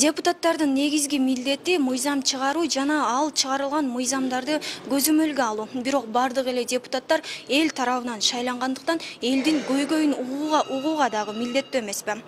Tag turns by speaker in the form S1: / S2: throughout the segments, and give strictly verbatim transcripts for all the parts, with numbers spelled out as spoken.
S1: Депутаттардын негизги милдети мыйзам чыгаруу жана ал чыгарылган мыйзамдарды көзөмөлгө алуу. Бирок бардык эле депутаттар эл тарабынан шайлангандыктан элдин көйгөйүн угууга угууга дагы милдеттүү эмеспи.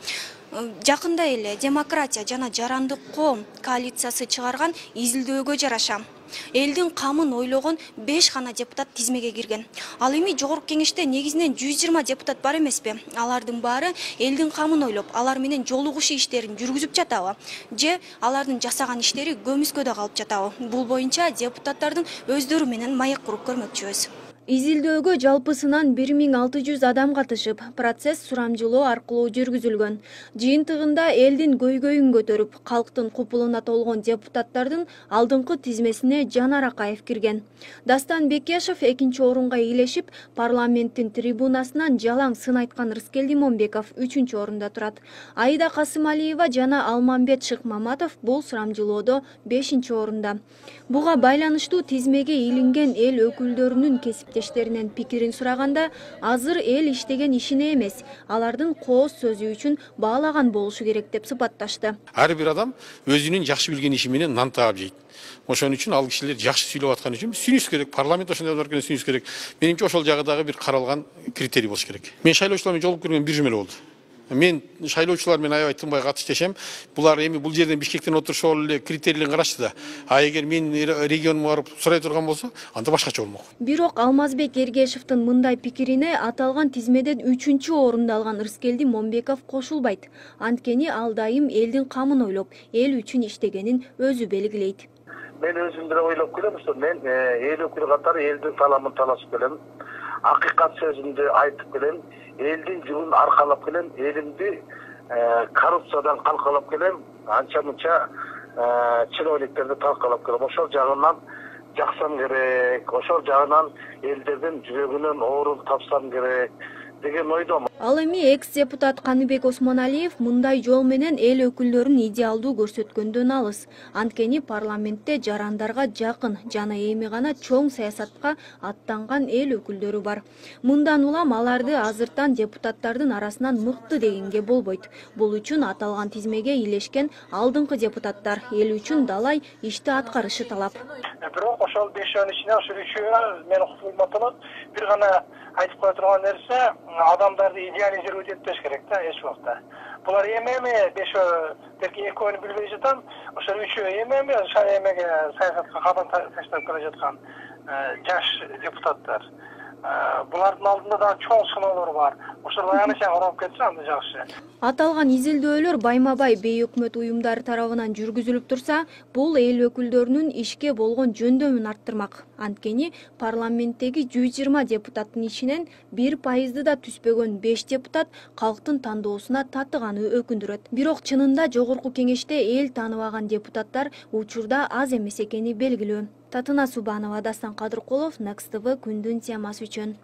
S1: Жакында эле Демократия жана Жарандык коом коалициясы чыгарган изилдөөгө жараша элдин камын ойлогон беш гана депутат тизмеге кирген. Ал эми жогорку кеңеште негизинен жүз жыйырма депутат бар эмеспи? Алардын баары элдин камын ойлоп, алар менен жолугушуу иштерин жүргүзүп жатабы? Же алардын жасаган иштери көмүскөдө калып жатабы? Бул боюнча депутаттардын өздөрү менен маек куруп көрмөкчүбүз. Изилдөөгө жалпысынан бир миң алты жүз адам катышып, процесс сурамжылоо аркылуу жүргүзүлгөн. Жыйынтыгында элдин көйгөйүн көтөрүп, калктын купулуна толгон депутаттардын алдыңкы тизмесине Жанар Акаев кирген. Дастан Бекешев экинчи орунга ээлешип, парламенттин трибунасынан жалаң сын айткан Рыскелди Момбеков үчүнчү орунда турат. Аида Касымалиева жана Алмамбет Шыкмаматов бул сурамжылоодо бешинчи орунда. Буга байланыштуу тизмеге илинген эл өкүлдөрүнүн кесиптештеринен пикирин сураганда, азыр эл иштеген ишине эмес, алардын кооз сөзү үчүн баалаган болушу керек деп сыпатташты.
S2: Ар бир адам өзүнүн жакшы билген иши менен нан таап жейт. Ошон үчүн ал кишилер жакшы сүйлөп аткан үчүн сүнүш керек. Парламент ошондой бар экен, сүнүш керек. Менимче ошол жагы дагы бир каралган критерий болуш керек. Мен шайлоочулар менен жолугуп көргөнүм бир жума эле болду. Мен шайлоочулар менен аябай тынбай катышташам. Булар эми бул жерден Бишкектен отурушуп эле критерийлерин карашты да. А эгер мен регионума барып сурай турган болсо, анда башкача болмок.
S1: Бирок Алмазбек Эргешевдин мындай пикирине аталган тизмеден үчүнчү орунду алган Рыскелди Момбеков кошулбайт. Анткени ал дайым элдин камын ойлоп, эл үчүн иштегенин өзү белгилейт.
S3: Мен өзүм деле ойлоп келем, что мен эл өкүлү катары элдин саламын талашып келем. Акыйкат сөзүмдү айтып келем. Элдин жылын аркалап келем, элимди коррупциядан калкалап келем, анча мынча чиновниктерди талкалап келем. Ошол жагынан жаксам керек, ошол жагынан элдердин жүрөгүнөн орун тапсам керек деген ойдомун.
S1: Ал эми экс-депутат Каныбек Осмоналиев мындай жол менен эл өкүлдөрүн идеалдуу көрсөткөндөн алыс. Анткени парламентте жарандарга жакын жана эми гана чоң саясатка аттанган эл өкүлдөрү бар. Мындан улам аларды азыртан депутаттардын арасынан мыкты дегенге болбойт. Бул үчүн аталган тизмеге илешкен алдыңкы депутаттар эл үчүн далай ишти аткарышы талап.
S3: Бирок ошол бешөөнүн ичинен ошол үчөө менин кулматымын бир гана айтып кое турган нерсе, адамдарды идеализировать этпеш керек да эч убакта. Булар эми-эми бешөө берки экөөнү билбей жатам, ошол үчөө эми-эми эмеге саясатка кадам таштап келе жаткан жаш депутаттар. Булардын алдында да чоң сыноолор бар. Ошол аяныча карап кетсе анда жакшы.
S1: Аталган изилдөөлөр байма-бай бейөкмөт уюмдар тарабынан жүргүзүлүп турса, бул эл өкүлдөрүнүн ишке болгон жөндөмүн арттырмак. Анткени парламенттеги жүз жыйырма депутаттын ичинен бир пайызды да түспөгөн беш депутат калктын тандоосуна татыганы өкүндүрөт. Бирок чынында жогорку кеңеште эл тааныбаган депутаттар учурда аз эмес экени белгилүү. Татына Субанова, Дастан Кадыркулов, Next T V күндүн темасы үчүн.